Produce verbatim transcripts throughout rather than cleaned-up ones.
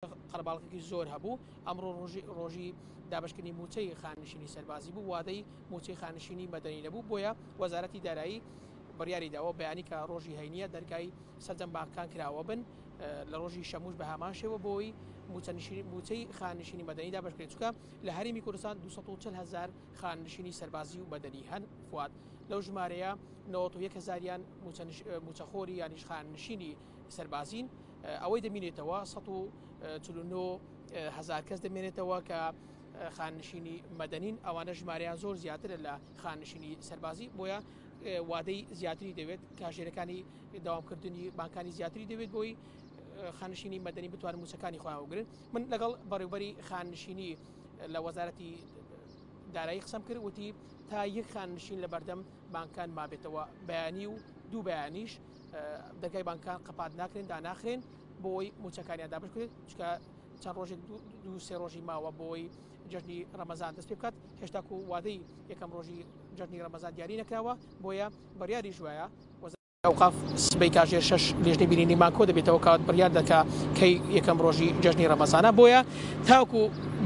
قەرەباڵغێکی زۆر هەبوو. ئەمڕۆ ڕۆژی ڕۆژی دابشکردنی موچەی خانشینی سەربازی بوو، وادەی موچەی خانشینی مەدەنی نەبوو، بۆیە وەزارەتی دارایی بڕیاری داوە بەیانی کە ڕۆژی هەینیە دەرگای سەرجەم بانکان کراوە بن، لە ڕۆژی شەموش بە هەمان شێوە بۆی موچەی خانشینی مەدەنی دابشکرێت، چونکە لە هەرێمی کوردستان دوو سەد و چل هەزار خانشینی سەربازی و مەدەنی هەن. فواد لەو ژمارەیە نەوەت و یەک هەزاریان موچەخۆری یانیش خانشینی سەربازین، ئەوەی دەمینێتەوە سەد و چل و نۆ هەزار کەس دەمێنێتەوە کە خانشینی مەدەنین، ئەوانە ژمارەیان زۆر زیاترە لە خانشینی سەربازی، بۆیە وادەی زیاتری دەوێت، کاژێرەکانی داوامکردنی بانکانی زیاتری دەوێت بۆی خانشینی مەدەنی بتوانن موچەکانی خۆیان وەگرن. من لەگەڵ بەڕێوبەری خانشینی لە وەزارەتی دارایی قسەم کرد، وتی تا یەک خانشین لە بەردەم بانکان مابێتەوە، بەیانی و دوو بەیانیش دەرگای بانکان قەپات ناکرێن، داناخرێن بۆی موچەکانیان دابش بکرێت، چونکە چەند ڕۆژێک دوو سێ ڕۆژی ماوە بۆی جەژنی ڕەمەزان دەست پێ بکات، هێشتاکو وادەی یەکەم ڕۆژی جەژنی ڕەمەزان دیاری نەکراوە، بۆیە بڕیاری ژوایە ئەوقاف سبەی کاژێر شەش لێژنەی بینینی مانکۆ دەبێتەوە کات بڕیار دەکا کەی یەکەم ڕۆژی جەژنی ڕەمەزانە، بۆیە تاکو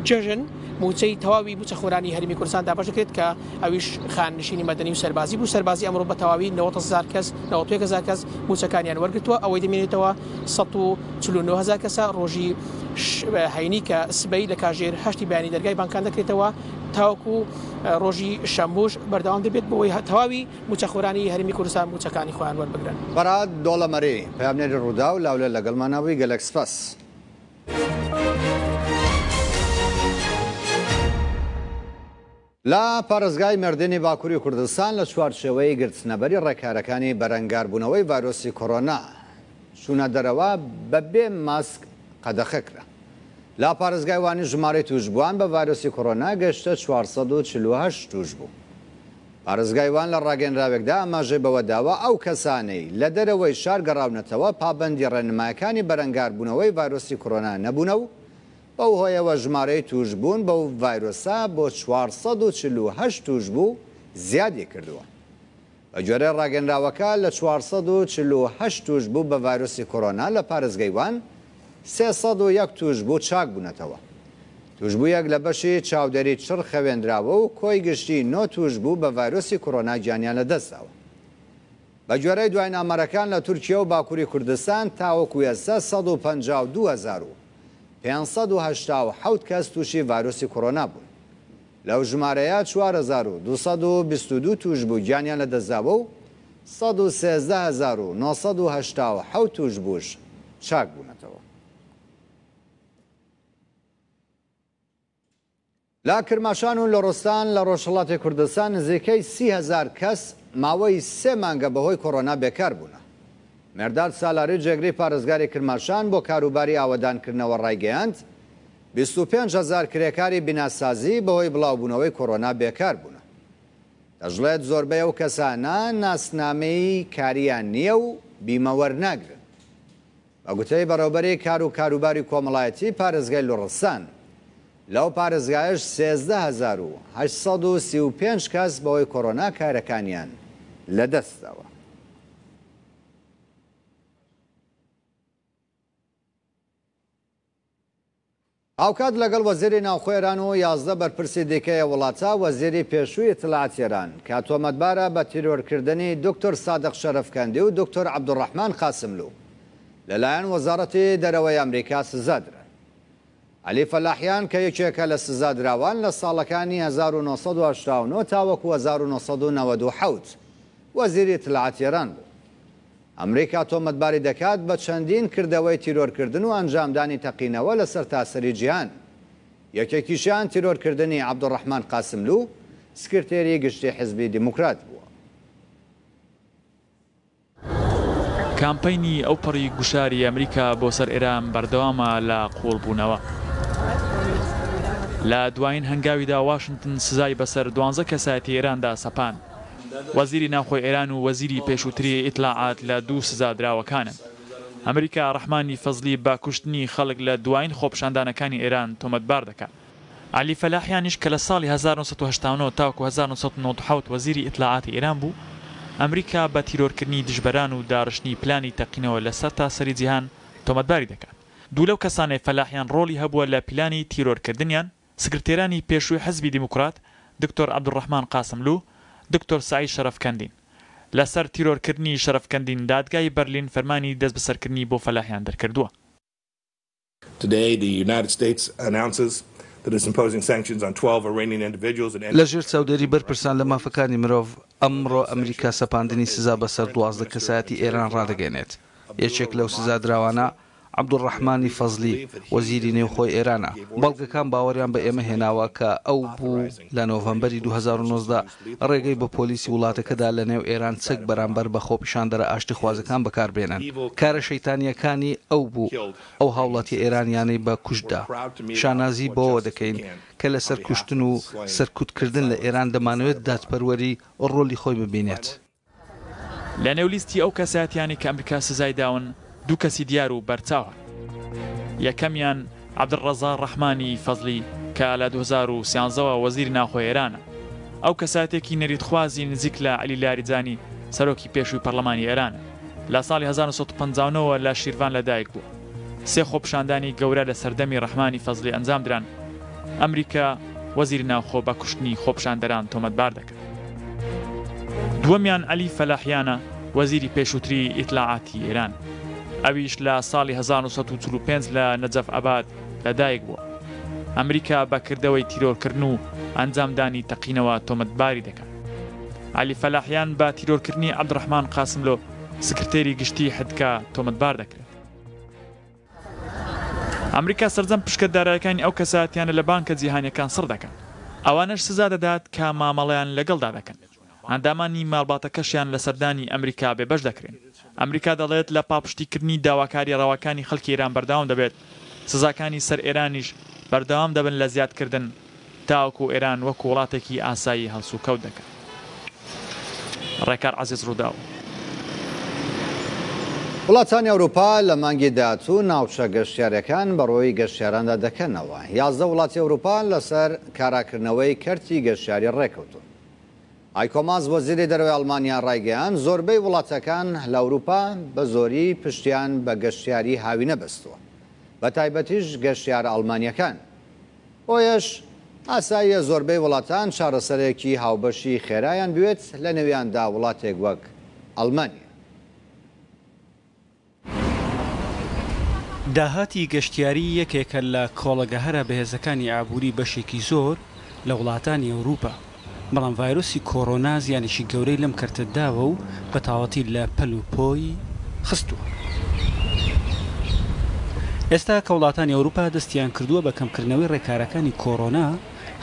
جەژن موچەی تەواوی موچەخۆرانی هەرێمی کوردستان دابەش دەکرێت کە ئەویش خانشینی مەدەنی و سەربازی بوو. سەربازی ئەمڕۆ بە تەواوی نەوەت هەزار کەس، نەوەت و یەک هەزار کەس موچەکانیان وەرگرتووە، ئەوەی دەمێنێتەوە سەد و چل و نۆ هەزار کەسە. ڕۆژی هەینی کە سبەی لە کاژێر هەشتی بەیانی دەرگای بانکان دەکرێتەوە تاوەکو ڕۆژی شەمموش بەردەوام دەبێت بۆی تەواوی موچەخۆرانی هەرێمی کوردستان موچەکانی خۆیان وەربگرن. فەرهاد دۆڵەمەری پەیامنێری ڕووداو لاولێر لەگەڵمانەوەی، گەلەک سپاس. لە پارێزگای مێردینی باکووری کوردستان لە چوارچێوەی گرتنەبەری ڕێکارەکانی بەرەنگاربوونەوەی ڤایرۆسی کۆرۆنا چوونە دەرەوە بەبێ ماسک قەدەخە کرا. لە پارێزگای وانی ژمارەی توشبووان بە ڤایرۆسی کۆرۆنا گەشتە چوار سەد و چل و هەشت توشبوو. پارێزگای وان لە ڕاگەنراوێکدا ئاماژەی بەوە داوە ئەو کەسانەی لە دەرەوەی شار گەڕاونەتەوە پابەندی ڕێنمایەکانی بەرەنگاربوونەوەی ڤایرۆسی کۆرۆنا نەبوونە و بەو هۆیەوە ژمارەی توشبوون بەو ڤایرۆسە بۆ چوار سەد و چل و هەشت توشبوو زیادی کردووە. بە گوێرەی ڕاگەنراوەکە لە چوار سەد و چل و هەشت توشبوو بە ڤایرۆسی کۆرۆنا لە پارێزگای وان سێ سەد و یەک توشبوو چاک بوونەتەوە. توشبوویەک لە بەشی چاودێری چڕ خەوێنراوە و کۆی گشتی نۆ توشبوو بە ڤایرۆسی کۆرۆنا گیانیان لەدەستداوە. بە گوێرەی دوایین ئامارەکان لە تورکیا و باکووری کوردستان تاوەکو ئێستا سەد و پەنجا و دوو هەزار و پێنج سەد و هەشتا و حەوت کەس تووشی ڤایرۆسی کۆرۆنا بوون. لەو ژمارەیە چوار هەزار و دوو سەد و بیست و دوو توشبوو گیانیان لەدەستداوە و سەد و سێزدە هەزار و نۆ سەد و هەشتا و حەوت توشبووش چاک بوونەتەوە. لە کرماشان و لوڕستان لە ڕۆژهەڵاتی کوردستان نزیکەی سی هەزار کەس ماوەی سێ مانگە بەهۆی کۆرۆنا بێکار بوونە. مێرداد سالاری جێگری پارێزگاری کرماشان بۆ کاروباری ئاوەدانکردنەوە ڕایگەیاند بیست و پێنج هەزار کرێکاری بیناسازی بەهۆی بڵاوبوونەوەی کۆرۆنا بێکار بوونە. دەشڵێت زۆربەی ئەو کەسانە ناسنامەی کاریان نییە و بیمە وەرناگرن. بە گوتەی بەڕێوبەری کار و کاروباری کۆمەڵایەتی پارێزگای لوڕستان لەو پارێزگایش سێزدە هەزار و هەشت سەد و سی و پێنج کەس بەهۆی کۆرۆنا کارەکانیان لەدەستداوە. هاوکات لەگەڵ وەزیری ناوخۆ ئێران و یازدە بەرپرسی دیکەی وڵاتە وەزیری پێشووی ئیتلاعات ئێران کە تۆمەتبارە بە تیرۆرکردنی دکتۆر سادق شەرەفکەندی و دکتۆر عەبدوڕەحمان قاسملو لەلایەن وەزارەتی دەرەوەی ئەمریکا سزادران. عەلی فەلاحیان کە یەکێکە لە سزادراوان لە ساڵەکانی هەزار و نۆ سەد و هەشتا و نۆ تاوەکو هەزار و نۆ سەد و نەوەد و حەوت وەزیری ئیتلاعات ئێران بوو. ئەمریکا تۆمەتباری دەکات بە چەندین کردەوەی تیرۆرکردن و ئەنجامدانی تەقینەوە لە سەرتاسەری جیهان. یەکێکیشیان تیرۆرکردنی عەبدوڕەحمان قاسملو سکرتێری گشتی حزبی دیموکرات بووە. کامپەینی ئەوپەڕی گوشاری ئەمریکا بۆ سەر ئێران بەردەوامە لە قوڵبوونەوە. لە دوایین هەنگاویدا واشنگتن سزای بەسەر دوانزە کەسایەتی ئێراندا سەپاند. وەزیری ناوخۆی ئێران و وەزیری پێشووتری ئیتلاعات لە دوو سزادراوەکانن. ئەمریکا ڕەحمانی فەزلی بە کوشتنی خەڵک لە دوایین خۆپیشاندانەکانی ئێران تۆمەتبار دەکات. عەلی فەلاحیانیش کە لە ساڵی هەزار و نۆ سەد و هەشتا و نۆ تاوەکو هەزار و نۆ سەد و نەوەد و حەوت وەزیری ئیتلاعاتی ئێران بوو، ئەمریکا بە تیرۆرکردنی دژبەران و داڕشتنی پلانی تەقینەوە لە سەرتاسەری جیهان تۆمەتباری دەکات. دوو لەو کەسانەی فەلاحیان ڕۆڵی هەبووە لە پیلانی تیرۆرکردنیان، سکرتێرانی پێشووی حزبی دیموکرات، دکتۆر عەبدولڕەحمان قاسملوو، دکتۆر سەعید شەرەفکەندین. لەسەر تیرۆرکردنی شەرەفکەندین دادگای بەرلین فەرمانی دەستبەسەرکردنی بۆ فەلاحیان دەرکردووە. لەژێر چاودێری بەرپرسان لە مافەکانی مرۆڤ، ئەمڕۆ ئەمریکا سەپاندنی سزا بەسەر دوازدە کەسایەتی ئێران ڕادەگەیەنێت. یەکێک لەو سزادراوانە عەبدولڕەحمانی فەزلی، وەزیری نێوخۆی ئێرانە. بەڵگەکان باوەڕیان بە ئێمە هێناوە کە ئەو بوو لە نۆڤەمبەری دوو هەزار و نۆزدە ڕێگەی بە پۆلیسی وڵاتەکەدا لەنێو ئێران چەک بەرامبەر بە خۆپیشاندەرە ئاشتیخوازەکان بەکاربێنن. کارە شەیتانییەکانی ئەو بوو ئەو هاوڵاتیە ئێرانیانەی بە کوشت دا. شانازی بەوەوە دەکەین کە لەسەر کوشتن و سەرکوتکردن لە ئێران دەمانەوێت دادپەروەری ڕۆلی خۆی ببینێت. لە نێو لیستی ئەو کەسایەتیانەی کە ئەمریکا سزای داون دوو کەسی دیار و بەرچاو هەن. یەکەمیان عەبدولڕەزا ڕەحمانی فەزلی کە لە دوو هەزار و سیانزە وە وەزیری ناوخۆی ئێرانە. ئەو کەسایەتێکی نەریتخوازی نزیک لە عەلی لاریجانی سەرۆکی پێشووی پەرلەمانی ئێرانە. لە ساڵی هەزار و نۆ سەد و پەنجا و نۆ وە لە شیرڤان لەدایک بووە. سێ خۆپیشاندانی گەورە لە سەردەمی ڕەحمانی فەزلی ئەنجام دران. ئەمریکا وەزیری ناوخۆ بە کوشتنی خۆپیشاندەران تۆمەتبار دەکات. دووەمیان عەلی فەلاحیانە، وەزیری پێشووتری ئیتلاعاتی ئێران. ئەویش لە ساڵی هەزار و نۆ سەد و چل و پێنج لە نەجەف ئاباد لەدایک بووە. ئەمریکا بە کردەوەی تیرۆرکردن و ئەنجامدانی تەقینەوە تۆمەتباری دەکات. عەلی فەلاحیان بە تیرۆرکردنی عەبدولڕەحمان قاسملۆ، سکرتێری گشتی حدکا تۆمەتبار دەکرێت. ئەمریکا سەرجەم پشکە دارایەکانی ئەو کەسایەتیانە لە بانکە جیهانیەکان سڕ دەکات. ئەوانەش سزا دەدات کە مامەڵەیان لەگەڵدا دەکەن. ئەندامانی ماڵباتەکەشیان لە سەردانی ئەمریکا بێبەش دەکرێن. ئەمریکا دەڵێت لە پاڵپشتیکردنی داواکاری ڕەواکانی خەڵکی ئێران بەردەوام دەبێت. سزاکانی سەر ئێرانیش بەردەوام دەبن لە زیادکردن تاوەکو ئێران وەکو وڵاتێکی ئاسایی هەڵسوکەوت دەکات. ڕێکار عەزیز، ڕووداو. وڵاتانی ئەوروپا لە مانگی داهاتوو ناوچە گەشتیارەکان بەڕووی گەشتیاراندا دەکەنەوە. یازدە وڵاتی ئەوروپا لەسەر کاراکردنەوەی کەرتی گەشتیاری ڕێکەوتون. هایکۆ ماس وەزیری دەرەوەی ئەڵمانیا ڕایگەیاند زۆربەی وڵاتەکان لە ئەوروپا بە زۆری پشتیان بە گەشتیاری هاوینە بەستووە، بە تایبەتیش گەشتیارە ئەڵمانیەکان. بۆیەش ئاساییە زۆربەی وڵاتان چارەسەرێکی هاوبەشی خێرایان بوێت، لە نێویاندا وڵاتێک وەک ئەڵمانیا. داهاتی گەشتیاری یەکێکە لە کۆڵەگە هەرە بەهێزەکانی ئابووری بەشێکی زۆر لە وڵاتانی ئەوروپا، بەڵام ڤایرۆسی کۆرۆنا زیانێکی گەورەی لەم کەرتە داوە و بە تەواوەتی لە پەل و پۆی خستووە. ئێستا کە وڵاتانی ئەوروپا دەستیان کردووە بە کەمکردنەوەی ڕێکارەکانی کۆرۆنا،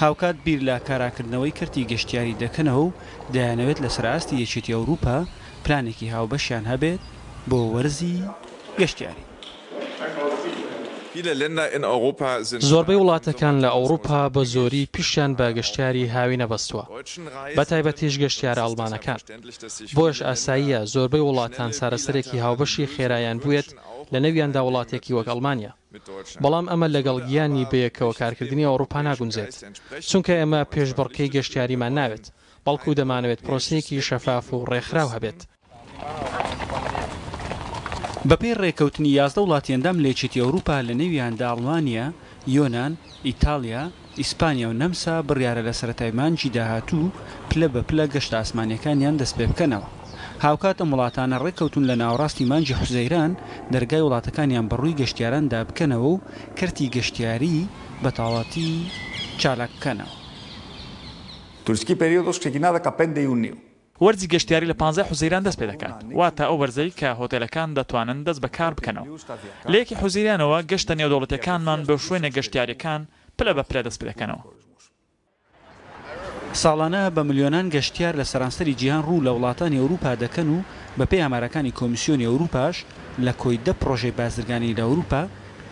هاوکات بیر لە کاراکردنەوەی کەرتی گەشتیاری دەکەنەوە و دەیانەوێت لەسەر ئاستی یەکێتی ئەوروپا پلانێکی هاوبەشیان هەبێت بۆ وەرزی گەشتیاری. زۆربەی وڵاتەکان لە ئەوروپا بە زۆری پشتیان بە گەشتیاری هاوینە بەستووە، بە تایبەتیش گەشتیارە ئەڵمانەکان. بۆیەش ئاساییە زۆربەی وڵاتان چارەسەرێکی هاوبەشی خێرایان بوێت، لە نێویاندا وڵاتێکی وەک ئەڵمانیا. بەڵام ئەمە لەگەڵ گیانی بەیەکەوە کارکردنی ئەوروپا ناگونجێت، چونکە ئێمە پێشبڕکێی گەشتیاریمان ناوێت، بەڵکو دەمانەوێت پرۆسەیەکی شەفاف و ڕێکخراو هەبێت. بەپێی ڕێکەوتنی یازدە وڵاتی ئەندام لە یەکێتی ئەوروپا لە نێویاندا ئەڵمانیا، یۆنان، ئیتاڵیا، ئیسپانیا و نەمسا بڕیارە لە سەرەتای مانگی داهاتوو پلە بە پلە گەشتە ئاسمانیەکانیان دەست پێ بکەنەوە. هاوکات ئەم وڵاتانە ڕێککەوتون لە ناوەڕاستی مانگی حوزەیران دەرگای وڵاتەکانیان بەڕووی گەشتیاراندا بکەنەوە و کەرتی گەشتیاری بە تەواوەتی چالاک بکەنەوە. Τουριστική περίοδος ξεκινά δεκαπέντε Ιουνίου. وەرزی گەشتیاری لە پانزەی حوزەیران دەست پێدەکات، واتە ئەو وەرزەی کە هۆتێلەکان دەتوانن دەست بە کار بکەنەوە. لە یەکی حوزەیرانەوە گەشتە نێودەوڵەتیەکانمان بۆ شوێنە گەشتیاریەکان پلە بە پلە دەست پێدەکەنەوە. ساڵانە بە ملیۆنان گەشتیار لە سەرانسەری جیهان ڕوو لە وڵاتانی ئەوروپا دەکەن و بەپێی ئامارەکانی کۆمیسیۆنی ئەوروپاش لە کۆی دە پرۆژەی بازرگانی لە ئەوروپا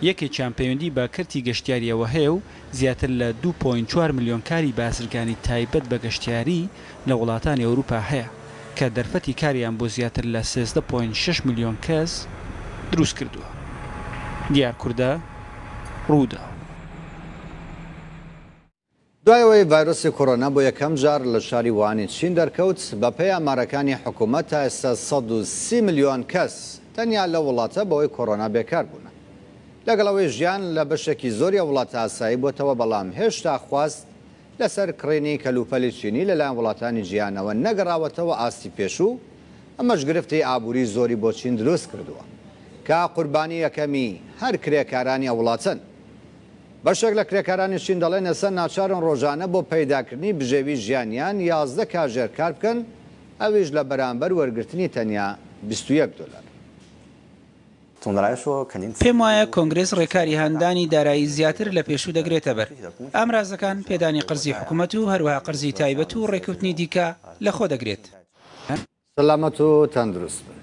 یەکێکیان پەیوەندی بە کەرتی گەشتیاریەوە هەیە و زیاتر لە دوو پۆینت چوار ملیۆن کاری بازرگانی تایبەت بە گەشتیاری لە وڵاتانی ئەوروپا هەیە کە دەرفەتی کاریان بۆ زیاتر لە سێزدە پۆینت شەش ملیۆن کەس دروست کردووە. دیار کوردە، ڕووداو. دوای ئەوەی ڤایرۆسی کۆرۆنا بۆ یەکەم جار لە شاری ووهانی چین دەرکەوت، بەپێی ئامارەکانی حکوومەت تا ئێستا سەد و سی ملیۆن کەس تەنیا لە وڵاتە بەهۆی کۆرۆنا بێکار بوون. لەگەڵ ئەوەی ژیان لە بەشێکی زۆری ئەو وڵاتە ئاسایی بۆتەوە، بەڵام هێشتا خواست لەسەر کڕینی کەلوپەلی چینی لەلایەن وڵاتانی جیهانەوە نەگەڕاوەتەوە ئاستی پێشوو، ئەمەش گرفتی ئابووری زۆری بۆ چین دروست کردووە کە قوربانی یەکەمی هەر کرێکارانی ئەو وڵاتەن. بەشێک لە کرێکارانی چین دەڵێن ئێستا ناچارن ڕۆژانە بۆ پەیداکردنی بژێوی ژیانیان یازدە کاژێر کار بکەن، ئەویش لە بەرامبەر وەرگرتنی تەنیا بیست و یەک دۆلار. پێم وایە کۆنگرێس ڕێکاری هاندانی دارایی زیاتر لە پێشوو دەگرێتە بەر. ئامرازەکان پێدانی قەرزی حکوومەت و هەروەها قەرزی تایبەت و ڕێککەوتنی دیکە لەخۆ دەگرێت. سەلامەت و تەندروست بن.